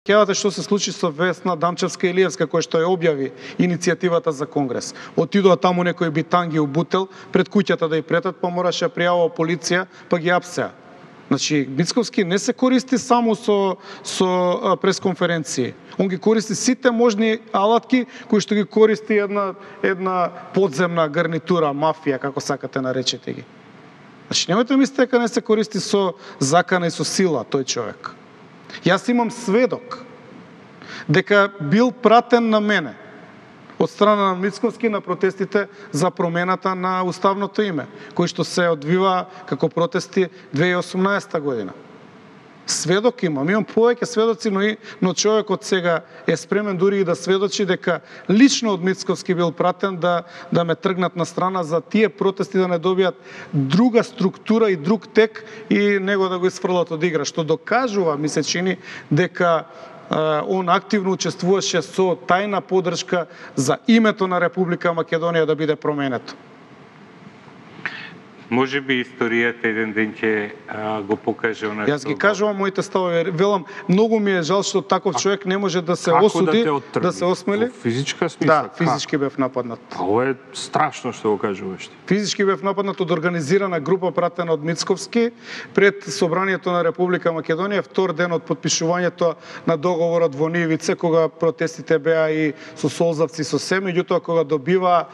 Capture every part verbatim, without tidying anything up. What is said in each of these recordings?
Кејавате што се случи со Весна Дамчевска-Илиевска, која што ја објави иницијативата за конгрес. Отидоа таму некој битанги убутел пред куќата да ја претат, па мораше ја пријавува полиција, па ги апсеа. Значи, Мицковски не се користи само со, со пресконференции. Он ги користи сите можни алатки кои што ги користи една, една подземна гарнитура, мафија, како сакате наречете ги. Значи, немојте мислите дека не се користи со закана и со сила тој човек. Јас имам сведок дека бил пратен на мене од страна на Мицковски на протестите за промената на уставното име, кои што се одвива како протести две илјади и осумнаесета година. Сведок имам, имам повеќе сведоци, но, и, но човекот сега е спремен дури и да сведочи дека лично од Мицковски бил пратен да, да ме тргнат на страна за тие протести да не добијат друга структура и друг тек и него да го изфрлат од игра, што докажува, ми се чини, дека он активно учествуваше со тајна поддршка за името на Република Македонија да биде променето. Може би историјата еден ден ќе го покаже она што... Јас ги кажувам моите ставови, велам, многу ми е жал што таков човек не може да се осуди, да, да се осмели. Во физичка смисла? Да, физички бев нападнат. А ова е страшно што го кажуваш. Физички бев нападнат од организирана група пратена од Мицковски пред собранието на Република Македонија, втор ден од подпишувањето на договорот во Нивице, кога протестите беа и со солзавци со се, меѓутоа кога добива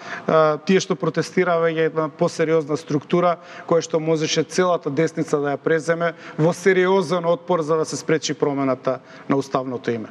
тие што протестираа една посериозна структура која што можеше целата десница да ја преземе во сериозен отпор за да се спречи промената на уставното име.